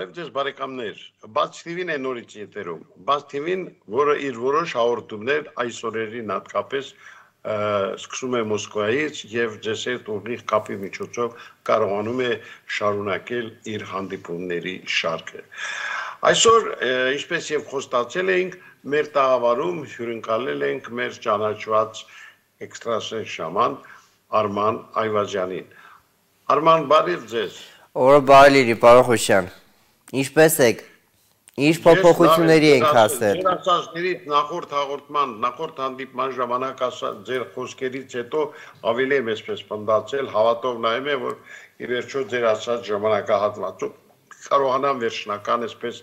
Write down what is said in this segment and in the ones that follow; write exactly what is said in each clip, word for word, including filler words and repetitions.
Բարև ձեզ բարեկամներ, Բաց թիվին է նորից եթերում, Բաց թիվին, որը իր որոշ հաղորդումներ այս օրերին հատկապես սկսում է Մոսկվայից եւ ձեզ հետ ուղիղ կապի միջոցով կարողանում է շարունակել իր հանդիպումների շարքը։ Այսօր, ինչպես եւ խոստացել էինք, մեր տաղավարում հյուրընկալել ենք մեր ճանաչված էքստրասենս շաման Արման Այվազյանին։ Արման, բարև ձեզ։ Օրը բարի լինի, պարոն Խուշյան։ Ինչպես եք։ Ինչ փոփոխությունների ենք հասել։ Ձեր ասածներից նախորդ հաղորդման, նախորդ հանդիպման ժամանակ ասած ձեր խոսքերից հետո ավելի եմ այսպես պնդացել, հավատով նայում եմ, որ ի վերջո ձեր ասած ժամանակահատվածում կարողանամ վերջնական այսպես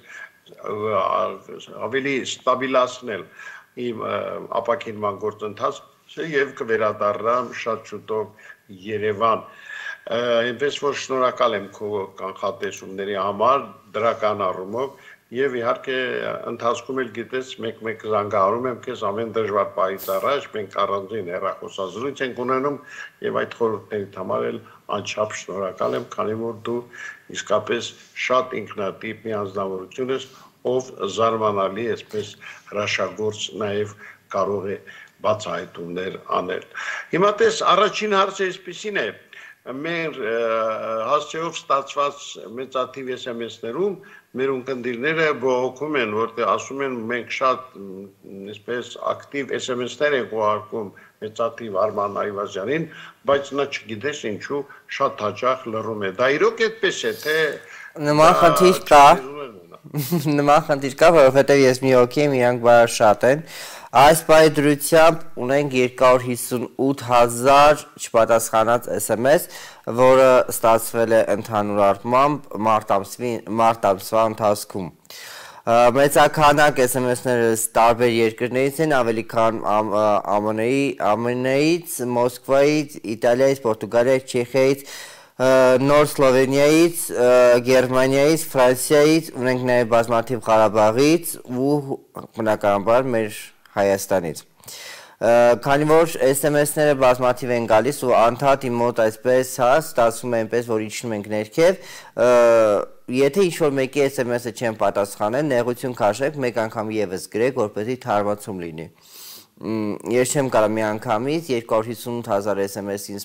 ավելի ստաբիլացնել իմ ապակինման գործընթացը եւ կվերադառնամ շատ շուտով Երևան։ Այնպես որ շնորհակալ եմ քո կանխատեսումների համար դրական առումով եւ իհարկե ընթացքում էլ գիտես մեկ-մեկ զանգահարում եմ քեզ ամեն դժվար պահից առաջ մենք առանձին հեռախոսազրույց ենք ունենում եւ այդ խորհուրդներից համար էլ անչափ շնորհակալ եմ, քանի որ դու իսկապես շատ ինքնատիպ մի անձնավորություն ես, ով զարմանալի այսպես հրաշագործ նաեւ կարող է բացահայտումներ անել։ Հիմա տես առաջին հարցը այսպեսին է մեր հասցեով ստացված մեծաթիվ էս էմ էսներում մեր ունկնդիրները բողոքում են, որտեղ ասում են մենք շատ այսպես ակտիվ էս էմ էսներ ենք ուղարկում մեծաթիվ Արման Այվազյանին, բայց նա չգիտես ինչու շատ հաճախ լռում է։ Դա իրոք այդպես է, թե նման խնդիր կա։ Նման խնդիր կա, որովհետև ես մի հոգի եմ, իրանք բավական շատ են։ Այս պահի դրությամբ ունենք երկու հարյուր հիսունութ հազար չպատասխանած էս էմ էս, որը ստացվել է ընդհանուր առմամբ մարտ ամսվա ընթացքում։ Մեծաքանակ էս էմ էսները տարբեր երկրներից են, ավելի քան ԱՄՆ -ից, Մոսկվայից, Իտալիայից, Պորտուգալիայից, Չեխիայից, Նոր Սլովենիայից, Գերմանիայից, Ֆրանսիայից, ունենք նաև բազմաթիվ Ղարաբաղից ու բնականաբար մեր Հայաստանից։ Քանի որ էս էմ էսները բազմաթիվ են գալիս ու անդադ իմ մոտ այսպես հա ստացվում է այնպես, որ իջնում ենք ներքև, եթե ինչ-որ մեկի էս էմ էսը չեն պատասխանել, նեղություն քաշեք, մեկ անգամ ևս գրեք, որպեսզի թարմացում լինի։ Ես չեմ կարող մի անգամից երկու հարյուր հիսունութ հազար էս էմ էսին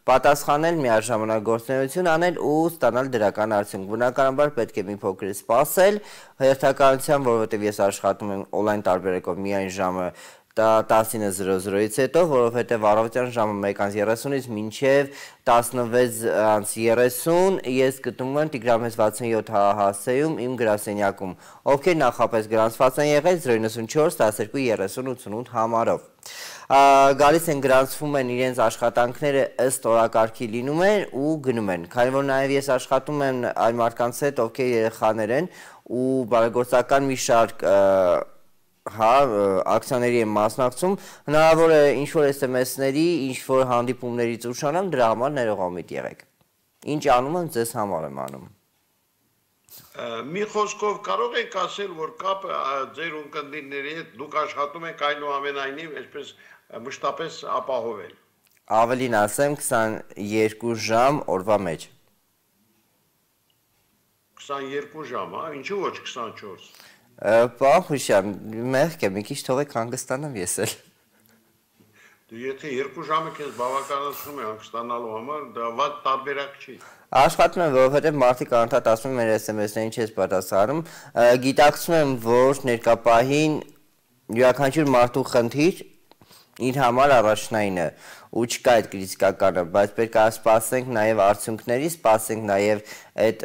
պատասխանել, միաժամանակ գործունեություն անել ու ստանալ դրական արդյունք։ Բնականաբար պետք է մի փոքր սպասել հերթականությամբ, որովհետև ես աշխատում եմ օնլայն տարբերակով միայն ժամը տասինը զրո զրոից հետո, որովհետև առավոտյան ժամը մեկ անց երեսունից մինչև տասնվեց անց երեսուն ես գտնվում եմ Տիգրան վաթսունյոթ հասցեում իմ գրասենյակում, ովքեր նախապես գրանցված են եղել զրո իննսունչորս տասներկու երեսուն ութսունութ համարով։ Գալիս են գրանցվում են իրենց աշխատանքները ըստ օրակարգի լինում են ու գնում են, քանի որ նաև ես աշխատում եմ այն մարդկանց հետ, ովքեր երեխաներ են ու բարեգործական մի շարք հա, ակցիաների եմ մասնակցում, հնարավոր է ինչ-որ էս էմ էսների, ինչ-որ հանդիպումներից ուշանամ, դրա համար ներողամիտ եղեք։ Ինչ անում եմ, ձեզ համար եմ անում։ Մի խոսքով կարող եք ասել, որ կապը ձեր ունկնդիրների հետ դուք աշխատում եք այնուամենայնիվ այսպես մշտապես ապահովել։ Ավելին ասեմ, քսաներկու ժամ օրվա մեջ։ քսաներկու ժամ, հա, ինչու ոչ քսանչորս։ Պարոն Խուշյան, մեղք է, մի քիչ թողեք հանգստանամ ես էլ։ Դու եթե երկու ժամը քեզ բավականացնում է հանգստանալու համար, դա վատ տարբերակ չի։ Աշխատում եմ, որովհետև մարդիկ անդադ ասում են մեր էս էմ էսներին չես պատասխանում, գիտակցում եմ, որ ներկա պահին յուրաքանչյուր մարդու խնդիր իր համար առաջնային է ու չկա այդ կրիտիկականը, բայց պետք է սպասենք նաև արդյունքների, սպասենք նաև այդ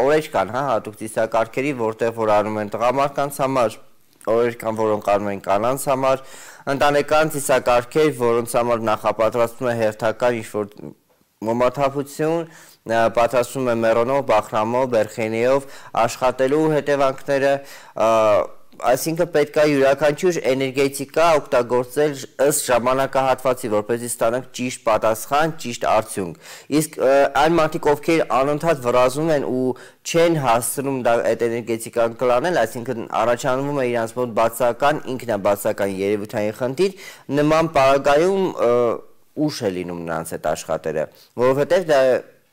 օրեր կան, հա, հատուկ ծիսակարգերի, որտեղ որ անում են տղամարդկանց համար, օրեր կան, որոնք անում են կանանց համար, ընտանեկան ծիսակարգեր, որոնց համար նախապատրաստվում է հերթական ինչ-որ մոմաթափություն, պատրաստվում է մեռոնով, բախրամով, բերխենիով, աշխատելու հետևանքները, այսինքն պետք է յուրաքանչյուր էներգետիկա օգտագործել ըստ ժամանակահատվածի, որպեսզի ստանանք ճիշտ պատասխան, ճիշտ արդյունք։ Իսկ այն մարդիկ, ովքեր անընդհատ վրազում են ու չեն հասցնում այդ էներգետիկան կլանել, այսինքն առաջանում է իրանց մոտ բացական, ինքնաբացական երևութային խնդիր, նման պարագայում ուշ է լինում նրանց այդ աշխատերը, որովհետև դա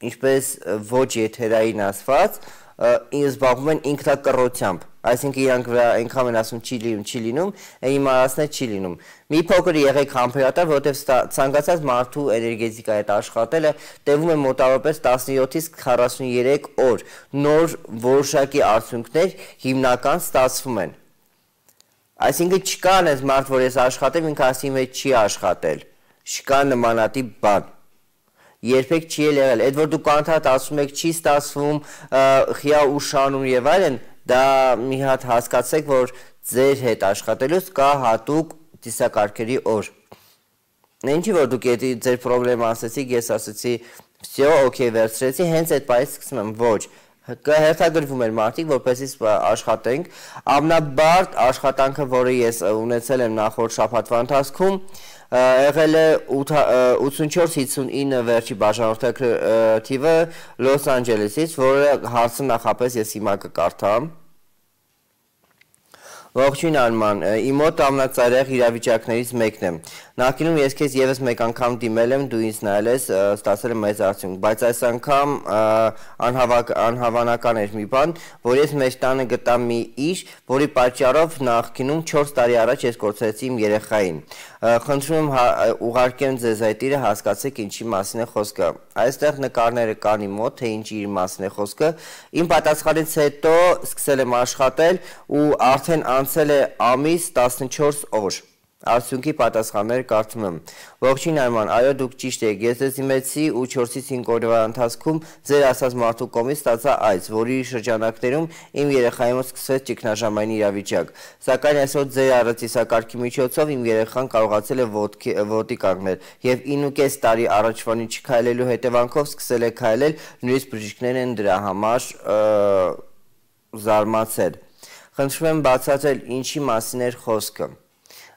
ինչպես ոչ եթերային ասված, զբաղվում են ինքնակռությամբ, այսինքն իրանք վրա այնքան են ասում չի լինում, չի լինում, իմարացնել չի լինում։ Մի փոքր եղեք համբերատար, որովհետև ցանկացած մարդու էներգետիկայի հետ աշխատելը տևում է մոտավորապես տասնյոթից քառասուներեք օր, նոր որոշակի արդյունքներ հիմնական ստացվում են։ Այսինքն չկա այնպես մարդ, որ ես աշխատեմ, ինքը ասի իմ հետ չի աշխատել, չկա նմանատիպ բան, երբեք չի եղել, այդ որ դուք անդադ ասում եք չի ստացվում, խիա ուշանում եւ այլն, դա մի հատ հասկացեք, որ ձեր հետ աշխատելուց կա հատուկ ծիսակարգերի օր։ Ինչի որ դուք ձեր պրոբլեմը ասեցիք, ես ասեցի, всё, օքեյ, վերցրեցի, հենց այդ պայից սկսում եմ, ոչ, կհերթագրվում են մարդիկ, որպեսզի աշխատենք, ամենաբարդ աշխատանքը, որը ես ունեցել եմ նախորդ շաբաթվա ընթացքում, եղել է ութսունչորս հիսունինը վերջի բաժանորդը Լոս Անջելեսից, որը հարցը նախապես ես հիմա կկարդամ։ Ողջույն Արման, իմ մոտ ամենածայրահեղ իրավիճակներից մեկն է։ Նախկինում ես քեզ եւս մեկ անգամ դիմել եմ, դու ինձ նայել ես, ստացել եմ մեծ արդյունք, բայց այս անգամ անհավանական էր մի բան, որ ես մեր տանը գտա մի իր, որի պատճառով նախկինում չորս տարի առաջ ես կորցրեցի իմ երեխային։ Խնդրում եմ ուղարկեմ ձեզ այդ իրը, հասկացեք ինչի մասին է խոսքը։ Այստեղ նկարները կան իմ մոտ, թե ինչի իր մասին է խոսքը։ Իմ պատասխանից հետո սկսել եմ աշխատել ու արդեն անցել է ամիս տասնչորս օր։ Արդյունքի պատասխանները կարդում եմ։ Ողջույն Արման, այո դուք ճիշտ եք, ես ձեզ դիմեցի ու չորսից հինգ օրվա ընթացքում ձեր ասած մարդու կողմից ստացա այց, որի շրջանակներում իմ երեխայի մոտ սկսվեց ճգնաժամային իրավիճակ։ Սակայն այսօր ձեր առածիսակարգի միջոցով իմ երեխան կարողացել է ոտքի կանգնել եւ ինուկես տարի առաջվանից չքայլելու հետևանքով սկսել է քայլել, նույնիսկ բժիշկներն են դրա համար զարմացել։ Խնդրում եմ բացատրել ինչի մասին էր խոսքը։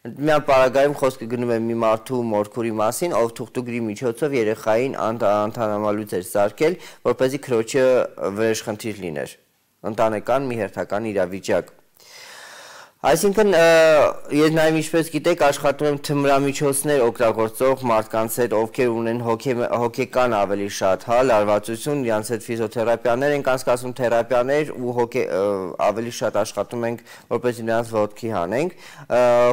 Միան պարագայում խոսքը գնում է մի մարդու մորքուրի մասին, ով թուղթուգրի միջոցով երեխային անդանամալուց էր սարքել, որպեսզի քրոջը վրեժխնդիր լիներ։ Ընտանեկան մի հերթական իրավիճակ։ Այսինքն, ես նաև ինչպես գիտեք, աշխատում եմ թմրամիջոցներ օգտագործող մարդկանց հետ, ովքեր ունեն հոգեկան ավելի շատ, հա, լարվածություն, իրancs հետ ֆիզիոթերապիաներ ենք անցկացնում, թերապիաներ ու ավելի շատ աշխատում ենք, որպեսզի նրանց ոտքի հանենք։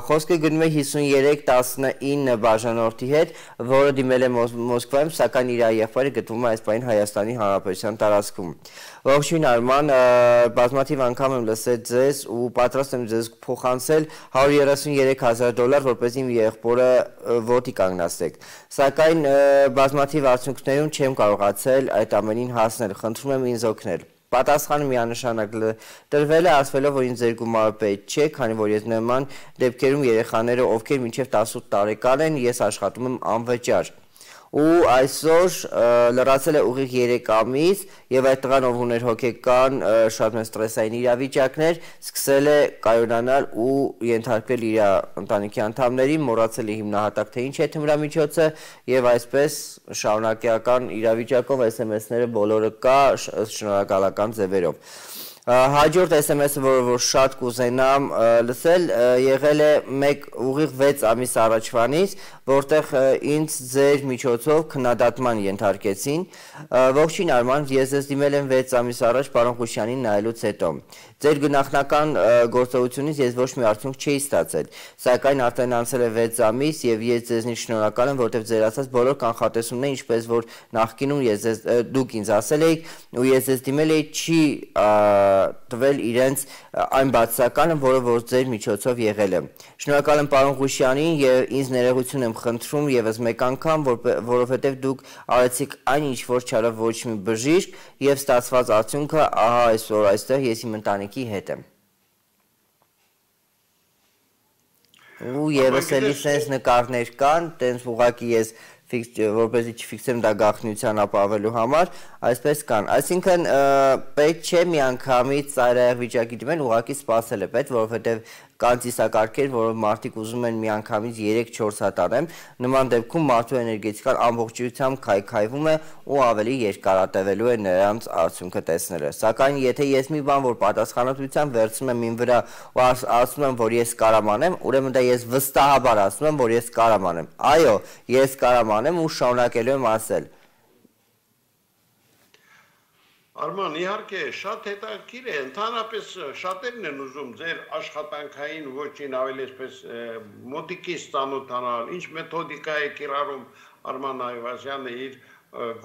Խոսքը գնում է հիսուներեք տասնինը բաժանորդի հետ, որը դիմել է Մոսկվայում, սակայն իր եղբայրը գտնվում է այս պահին Հայաստանի Հանրապետության տարածքում։ Ողջույն Արման, բազմաթիվ անգամ եմ լսել ձեզ ու պատրաստ եմ ձեզ փոխանցել հարյուր երեսուներեք հազար դոլար, որպեսզի իմ եղբորը ոտքի կանգնացնեք։ Սակայն բազմաթիվ արդյունքներում չեմ կարողացել այդ ամենին հասնել, խնդրում եմ ինձ օգնել։ Պատասխանը միանշանակ տրվել է, ասվելով, որ ինձ ձեր գումարը պետք չէ, քանի որ ես նման դեպքերում երեխաները, ովքեր մինչև տասութ տարեկան են, ես աշխատում եմ անվճար։ Ու այսօր լրացել է ուղիղ երեք ամիս եւ այդ տղան ով ուներ հոգեկան շատ մեծ ստրեսային իրավիճակներ, սկսել է կայունանալ ու ենթարկվել իր ընտանիքի անդամներին, մոռացել է հիմնահատակ թե ինչ է թմրամիջոցը եւ այսպես շարունակական իրավիճակով էս էմ էսները բոլորը կա շնորհակալական ձևերով։ Հաջորդ էս էմ էսը, որը որ շատ կուզենամ լսել, եղել է մեկ ուղիղ վեց ամիս առաջվանից, որտեղ ինձ ձեր միջոցով քննադատման ենթարկեցին։ Ողջույն Արման, ես ձեզ դիմել եմ վեց ամիս առաջ պարոն Խուշյանին նայելուց հետո։ Ձեր գնահատական գործողությունից ես ոչ մի արդյունք չէի ստացել, սակայն արդեն անցել է վեց ամիս եւ ես ձեզնից շնորհակալ եմ, որովհետեւ ձեր ասած բոլոր կանխատեսումները, ինչպես որ նախկինում ես դուք ինձ ասել եք ու ես ձեզ դիմել էի, չի տվել իրենց այն բացականը, որը որ ձեր միջոցով եղել է։ Շնորհակալ եմ պարոն Ղուշյանին եւ ինձ ներողություն եմ խնդրում եւս մեկ անգամ, որովհետեւ դուք արեցիք այն ինչ որ չարավ ոչ մի բժիշկ եւ ստացված արդյունքը ահա այսօր այստեղ ես իմ ընտանիքի հետ եմ։ Ու եւս էլի sense նկարներ կան, տենց ուղակի ես որպեսզի չֆիքսեմ դա գաղտնիության ապավելու համար, այսպես կան։ Այսինքն պետք չէ միանգամից ծայրահեղ վիճակի դիմել, ուղղակի սպասել է պետք, որովհետև կան ծիսակարգեր, որով մարդիկ ուզում են միանգամից երեք-չորս հատ անեն, նման դեպքում մարդու էներգետիկան ամբողջությամբ քայքայվում է ու ավելի երկարատևելու է նրանց արդյունքը տեսնելը։ Սակայն եթե ես մի բան որ պատասխանատվությամբ վերցնում եմ ին վրա ու ասում եմ, որ ես կարամ անեմ, ուրեմն դա ես վստահաբար ասում եմ, որ ես կարամ անեմ։ Այո, ես կարամ անեմ ու շարունակելու եմ ասել։ Արման, իհարկե, շատ հետաքրքիր է, ընդհանրապես շատերն են ուզում ձեր աշխատանքային ոճին ավելի այսպես մոտիկից ծանոթանալ, ինչ մեթոդիկա է կիրառում Արման Այվազյանը իր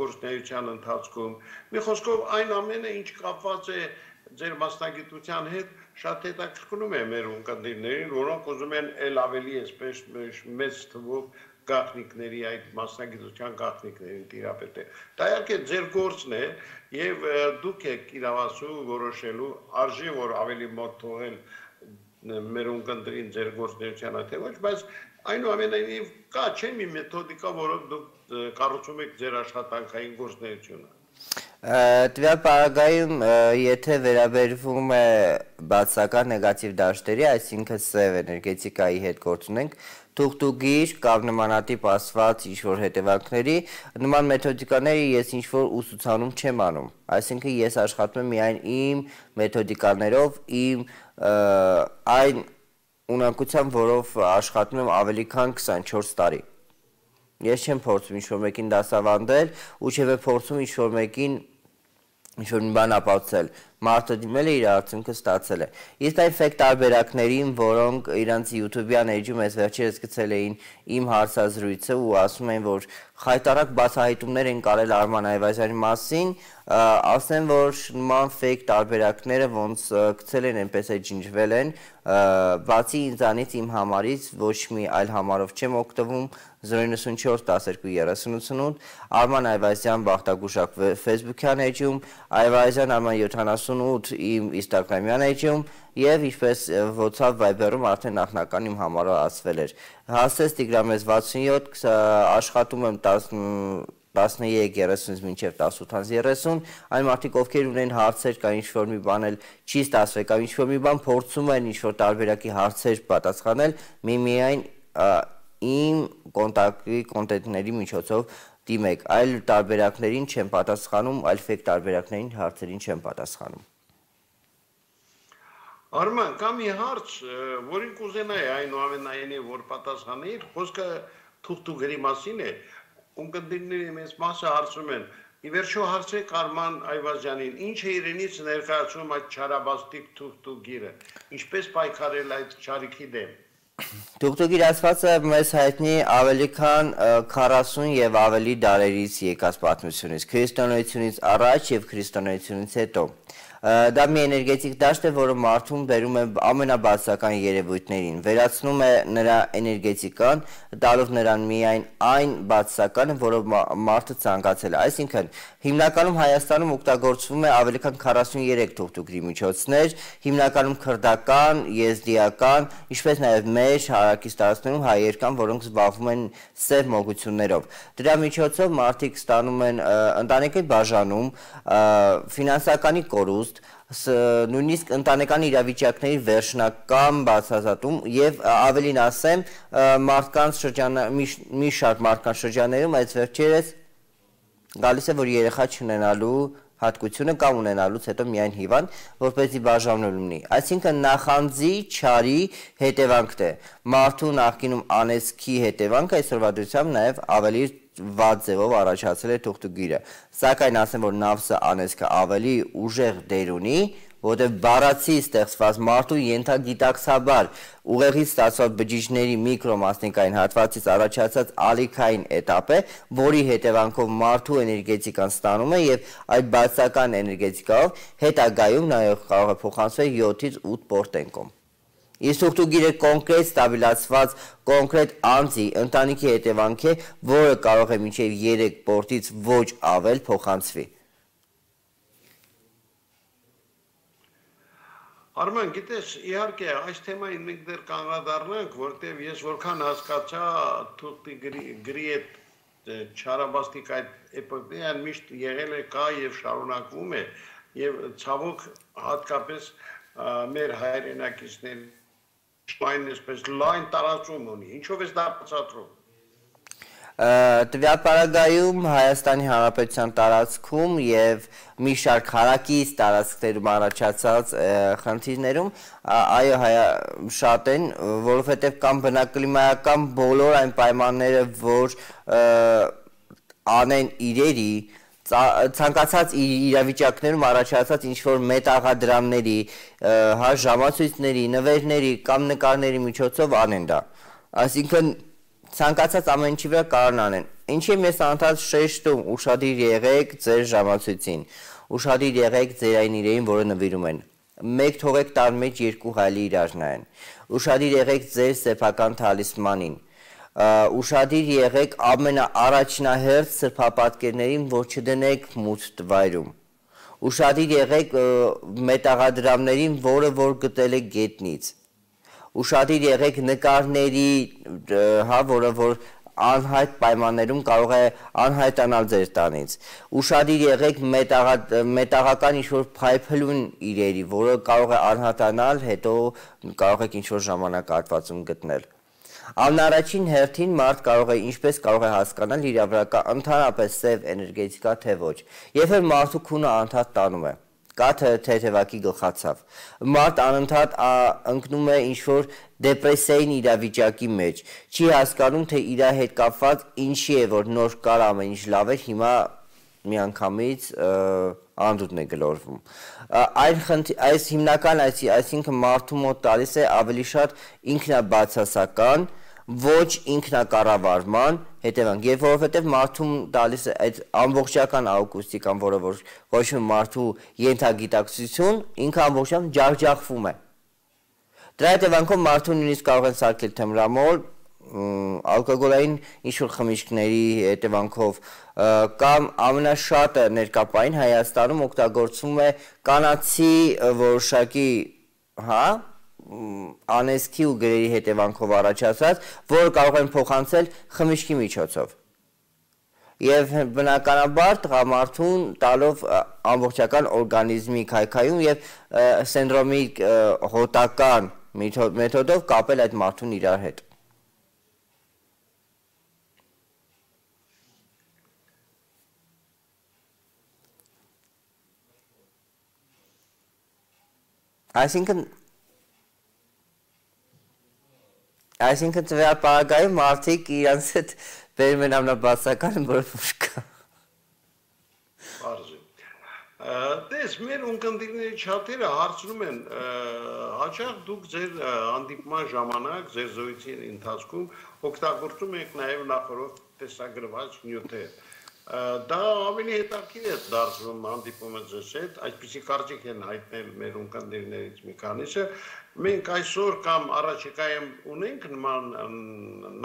գործունեության ընթացքում։ Մի խոսքով այն ամենը, ինչ կապված է ձեր մասնագիտության հետ, շատ հետաքրքրում է մեր ունկնդիրներին, որոնք ուզում են ել ավելի այսպես մեծ թվով գաղտնիքների այդ մասնագիտության գաղտնիքներին տիրապետել։ Դա իհարկե ձեր գործն է եւ դուք եք իրավասու որոշելու արժի որ ավելի մոտ թողել մեր ունկնդրին ձեր գործունեությանը թե ոչ, բայց այնուամենայնիվ կա չէ՞ մի մեթոդիկա, որով դուք կառուցում եք ձեր աշխատանքային գործունեությունը։ Տվյալ պարագայում եթե վերաբերվում է բացական նեգատիվ դաշտերի, այսինքն սև էներգետիկայի հետ գործ ունենք, թուղթուգիր կամ նմանատիպ ասված ինչ-որ հետևանքների, նման մեթոդիկաները ես ինչ-որ ուսուցանում չեմ անում, այսինքն ես աշխատում եմ միայն իմ մեթոդիկաներով, իմ այն ունակությամբ, որով աշխատում եմ ավելի քան քսանչորս տարի։ Ես չեմ փորձում ինչ-որ մեկին դասավանդել ու չէ փորձում ինչ-որ մեկին ինչ-որ մի բան ապացուցել, մարդը դիմել է իր արդյունքը ստացել է։ Իսկ այն ֆեյք տարբերակներին, որոնք իրանց YouTube-յան էջում ես վերջերս գցել էին իմ հարցազրույցը ու ասում են, որ խայտարակ բացահայտումներ են կարել Արման Այվազյանի մասին, ասեմ, որ նման ֆեյք տարբերակները ոնց գցել են, այնպես է ջնջվել են, բացի ինձանից իմ համարից ոչ մի այլ համարով չեմ օգտվում, zero nine four twelve two thirty eight Արման Այվազյան Բախտագուշակ Facebook-յան էջում, Այվազյան Արման seventy-eight իմ Instagram-յան էջում եւ ինչպես WhatsApp Viber-ում արդեն նախնական իմ համարը ասվել էր։ Հասես Տիգրամես sixty-seven աշխատում եմ ten thirty-three մինչև ten eight thirty, այն մարդիկ ովքեր ունեն հարցեր կամ ինչ-որ մի բան էլ չի ստացվել կամ ինչ-որ մի բան փորձում են ինչ-որ տարբերակի հարցեր պատասխանել, միմիայն իմ կոնտակտի կոնտենտների միջոցով դիմեք, այլ տարբերակներին չեմ պատասխանում, այլ ֆեյք տարբերակներին հարցերին չեմ պատասխանում։ Արման, կա մի հարց, որին կուզենայի այնուամենայնիվ որ պատասխանի, խոսքը թուղթուգրի մասին է, ունկնդիրների մեծ մասը հարցում են, ի վերջո հարցրեք Արման Այվազյանին, ինչ է իրենից ներկայացնում այդ չարաբաստիկ թուղթուգիրը, ինչպես պայքարել այդ չարիքի դեմ։ Թուղթուգիր ասվածը մեզ հայտնի ավելի քան քառասուն եւ ավելի դարերից եկած պատմությունից, քրիստոնեությունից առաջ եւ քրիստոնեությունից հետո։ Դա մի էներգետիկ դաշտ է, որը մարդուն բերում է ամենաբացական երևույթներին, վերացնում է նրա էներգետիկան, տալով նրան միայն այն բացականը, որով մարդը ցանկացել է։ Այսինքն, հիմնականում Հայաստանում օգտագործվում է ավելի քան քառասուններեք թուղթուգրի միջոցներ, հիմնականում քրդական, եզդիական, ինչպես նաև մեր հարակից տարածքներում հայեր կան, որոնք զբաղվում են սև մոգություններով։ Դրա միջոցով մարդիկ ստանում են ընտանեկան բաժանում, ֆինանսականի կորուստ, նույնիսկ ընտանեկան իրավիճակների վերջնական բացահայտում եւ ավելին ասեմ մարդկանց շրջան մի շարք մարդկանց շրջաններում այս վերջերս գալիս է որ երեխա չունենալու հատկությունը կամ ունենալուց հետո միայն հիվանդ որպեսզի բաժանվել լինի այսինքն նախանձի չարի հետևանքն է մարդու նախկինում անեծքի հետևանքը այսօրվա դրությամբ նաեւ ավելի վատ ձևով առաջացել է թուղթուգիրը սակայն ասեմ որ նավսը անեծքը ավելի ուժեղ դեր ունի որտեղ բառացի ստեղծված մարդու ենթագիտակցաբար ուղեղից ստացված բջիջների միկրոմասնիկային հատվածից առաջացած ալիքային էտապ է, որի հետևանքով մարդու էներգետիկան ստանում է եւ այդ բացական էներգետիկայով հետագայում նաեւ կարող է փոխանցվել յոթից ութ պորտենկոմ։ Իսկ թուղթուգիրը կոնկրետ ստաբիլացված կոնկրետ անձի ընտանիքի հետևանք է, որը կարող է մինչև երեք պորտից ոչ ավել փոխանցվի։ Արման, գիտես, իհարկե, այս թեմային մենք դեռ կանդրադառնանք, որտեղ ես որքան հասկացա թուղթուգիրի այդ չարաբաստիկ այդ էպոպեան միշտ եղել է կա եւ շարունակվում է եւ ցավոք հատկապես մեր հայրենակիցներ այն այսպես լայն տարածում ունի, ինչով է դա բացատրում։ Տվյալ պարագայում Հայաստանի Հանրապետության տարածքում եւ մի շարք հարակից տարածքներում առաջացած խնդիրներում այո շատ են, որովհետեւ կան բնակլիմայական բոլոր այն պայմանները, որ անեն իրերի ցանկացած իրավիճակներում առաջացած ինչ-որ մետաղադրամների, հա, ժամացույցների, նվերների կամ նկարների միջոցով անեն դա։ Այսինքն ցանկացած ամեն ինչի վրա կարող անեն։ Ինչի՞ ես անդադ շեշտում ուշադիր եղեք ձեր ժամացույցին, ուշադիր եղեք ձեր այն իրերին, որը նվիրում են։ Մեկ թողեք տան մեջ երկու հայլի իրար նայեն։ Ուշադիր եղեք ձեր սեփական թալիսմանին։ Ուշադիր եղեք ամենաառաջնահերթ սրբապատկերներին, որ չդնեք մութ վայրում։ Ուշադիր եղեք մետաղադրամներին, որը որ գտել եք գետնից։ Ուշադիր եղեք նկարների, հա, որը որ անհայտ պայմաններում կարող է անհայտանալ ձեր տանից։ Ուշադիր եղեք մետաղական ինչ-որ փայփլուն իրերի, որը կարող է անհատանալ, հետո կարող եք ինչ-որ ժամանակահատվածում գտնել։ Ամենաառաջին հերթին մարդ կարող է ինչպես կարող է հասկանալ իր վրա կա ընդհանրապես սև էներգետիկա թե ոչ։ Երբ որ մարդու քունը անդադ տանում է, կա թեթևակի գլխացավ, մարդ անընդհատ ընկնում է ինչ-որ դեպրեսիային իրավիճակի մեջ, չի հասկանում, թե իր հետ կապված ինչի է, որ նոր կար ամեն ինչ լավ էր, հիմա միանգամից անդուդն է գլորվում։ Այս հիմնական, այսինքն մարդու մոտ տալիս է ավելի շատ ինքնաբացասական, ոչ ինքնակառավարման հետևանք, եւ որովհետեւ մարդուն տալիս է այդ ամբողջական աուկուստիկան, որը որ կոչվում է մարդու ենթագիտակցություն, ինքը ամբողջությամբ ջախջախվում է։ Դրա հետևանքով մարդուն նույնիսկ կարող են սարքել թմրամոլ, ալկոգոլային ինչ-որ խմիչքների հետևանքով կամ ամենաշատը ներկապային Հայաստանում օգտագործվում է կանացի որոշակի, հա, անեզքի ու գրերի հետևանքով առաջացած, որը կարող են փոխանցել խմիչքի միջոցով։ Եվ բնականաբար տղամարդուն տալով ամբողջական օրգանիզմի քայքայում եւ սինդրոմի հոտական մեթոդով կապել այդ մարդուն իրար հետ։ Այսինքն Այսինքն տվյալ պարագայում մարդիկ իրանց հետ բերում են ամենաբացականը, որը որ կա։ Պարզ է։ Տես, մեր ունկնդիրների չաթերը հարցնում են, հաճախ դուք ձեր հանդիպման ժամանակ, ձեր զոյցի ընթացքում օգտագործում եք նաև նախորդ տեսագրված նյութեր։ Դա ավելի հետաքրքիր է դարձնում հանդիպումը ձեզ հետ, այսպիսի կարծիք են հայտնել մեր ունկնդիրներից մի քանիսը։ Մենք այսօր կամ առաջիկայում ունենք նման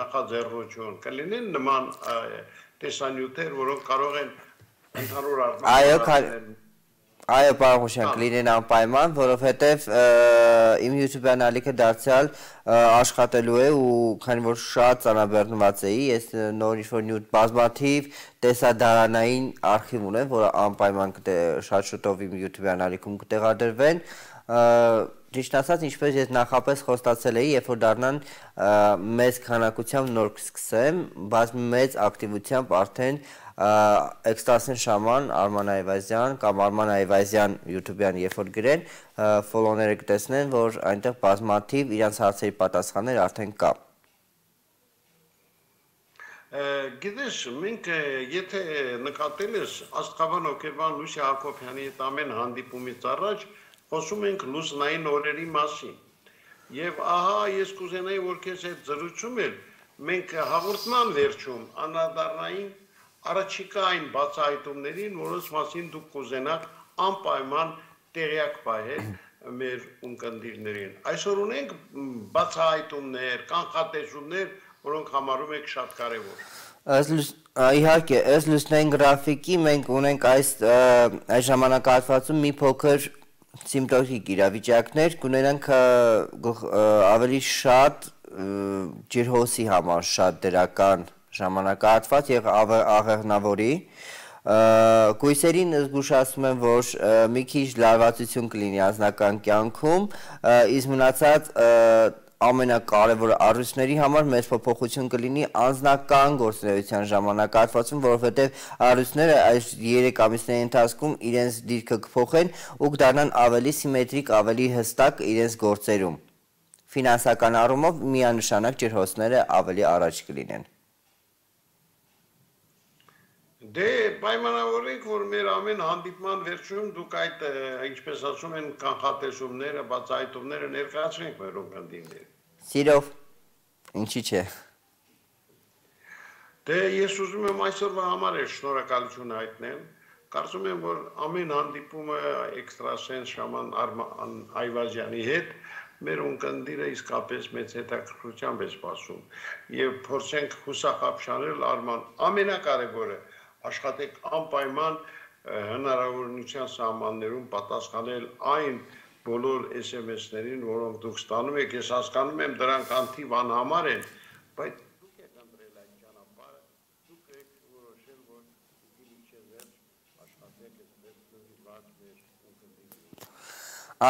նախաձեռնություն, կլինեն նման տեսանյութեր, որոնք կարող են ընդհանուր առմամբ Այո, պարոն Ղուշյան, կլինեն անպայման, որովհետև իմ YouTube-յան ալիքը դարձյալ աշխատելու է ու քանի որ շատ ծանրաբեռնված էի, ես նոր ինչ-որ նյութ բազմաթիվ տեսադարանային արխիվ ունեմ, որը անպայման շատ շուտով իմ YouTube-յան ալիքում կտեղադրվեն։ Ճիշտ ասած, ինչպես ես նախապես խոստացել էի, երբ որ դառնան մեծ քանակությամբ նոր կսկսեմ, բայց մեծ ակտիվությամբ արդեն Էքստասեն շաման Արման Այվազյան կամ Արման Այվազյան YouTube-յան երբ որ գրեն, ֆոլոուները կտեսնեն, որ այնտեղ բազմաթիվ իրանց հարցերի պատասխաններ արդեն կա։ Գիտես, մենք եթե նկատել ես Աստղաբան հոգեբան Լուսի Հակոբյանի հետ ամեն հանդիպումից առաջ խոսում ենք լուսնային օրերի մասին։ Եվ ահա ես կուզենայի, որ քեզ հետ զրուցում եմ, մենք հաղորդման վերջում անդրադառնային առաջիկա այն բացահայտումներին, որոնց մասին դուք կուզենաք անպայման տեղյակ պահել մեր ունկնդիրներին։ Այսօր ունենք բացահայտումներ, կանխատեսումներ, որոնք համարում եք շատ կարևոր։ Իհարկե, ըստ լուսնային գրաֆիկի մենք ունենք այս այս ժամանակահատվածում մի փոքր սիմպտոմատիկ իրավիճակներ, կունենանք ավելի շատ ջրհոսի համար շատ դրական ժամանակահատված եւ աղեղնավորի Կույսերին զգուշացնում եմ, որ մի քիչ լարվածություն կլինի անձնական կյանքում, իսկ մնացած ամենակարևոր առույցների համար մեծ փոփոխություն կլինի անձնական գործունեության ժամանակահատվածում, որովհետև առույցները այս երեք ամիսների ընթացքում իրենց դիրքը կփոխեն ու կդառնան ավելի սիմետրիկ, ավելի հստակ իրենց գործերում։ Ֆինանսական առումով միանշանակ ջրհոսները ավելի առաջ կլինեն։ Դե պայմանավորենք, որ մեր ամեն հանդիպման վերջում դուք այդ ինչպես ասում են կանխատեսումները, բացահայտումները ներկայացնենք մեր ուղղորդիներին։ Սիրով, ինչի՞ չէ։ Դե ես ուզում եմ այսօրվա համար է շնորհակալություն հայտնել։ Կարծում եմ, որ ամեն հանդիպումը էքստրասենս Շաման Այվազյանի հետ մեր ունկնդիրը իսկապես մեծ հետաքրքրությամբ է սպասում եւ փորձենք հուսախաբշանել Արման ամենակարևորը աշխատեք անպայման հնարավորության սահմաններում պատասխանել այն բոլոր էս էմ էս-ներին, որոնք դուք ստանում եք, ես հասկանում եմ դրանք անթիվ անհամար են, բայց դուք եք ընտրել այդ ճանապարհը, դուք եք որոշել, որ պիտի մինչև վերջ աշխատեք այսպես նվիրված մեր ունկնդիրներին։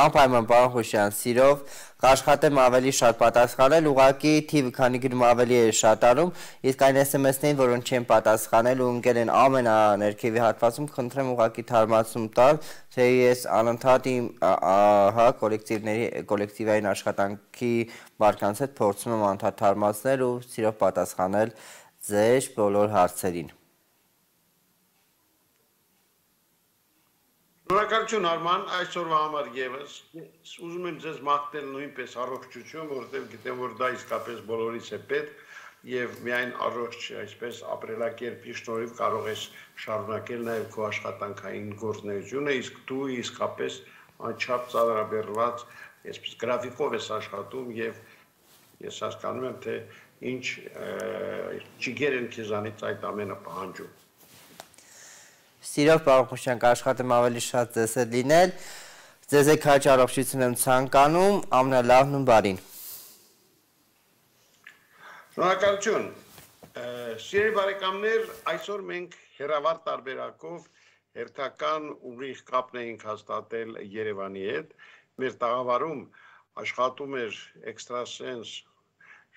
Անպայման պարոն Խուշյան, սիրով կաշխատեմ ավելի շատ պատասխանել, ուղղակի թիվը քանի գնում ավելի է շատանում, իսկ այն էս էմ էս-ներին, որոնք չեն պատասխանել ու ընկել են ամենաներքևի հատվածում, խնդրեմ ուղղակի թարմացում տալ, թե ես անընդհատ իմ հա կոլեկտիվների կոլեկտիվային աշխատանքի մարդկանց հետ փորձում եմ անընդհատ թարմացնել ու սիրով պատասխանել ձեր բոլոր հարցերին։ Շնորհակալություն Արման, այսօրվա համար եւս ուզում եմ ձեզ մաղթել նույնպես առողջություն, որովհետեւ գիտեմ, որ դա իսկապես բոլորիս է պետք եւ միայն առողջ այսպես ապրելակերպի շնորհիվ կարող ես շարունակել նաեւ քո աշխատանքային գործունեությունը, իսկ դու իսկապես անչափ ծառայաբերված, այսպես գրաֆիկով ես աշխատում եւ ես հասկանում եմ, թե ինչ ճիգեր են քեզանից այդ ամենը պահանջում։ Սիրով պարոն Խուշյան, կաշխատեմ ավելի շատ ձեզ հետ լինել, ձեզ եք հաճ առողջություն եմ ցանկանում, ամենալավն ու բարին։ Շնորհակալություն։ Սիրելի բարեկամներ, այսօր մենք հերավար տարբերակով հերթական ուղիղ կապն էինք հաստատել Երևանի հետ։ Մեր տաղավարում աշխատում էր էքստրասենս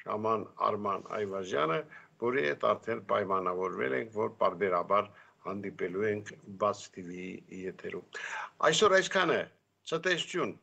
Շաման Արման Այվազյանը, որի հետ արդեն պայմանավորվել ենք, որ պարբերաբար հանդիպելու ենք բաց թիվի եթերում։ Այսօր այսքանը, ցտեսություն։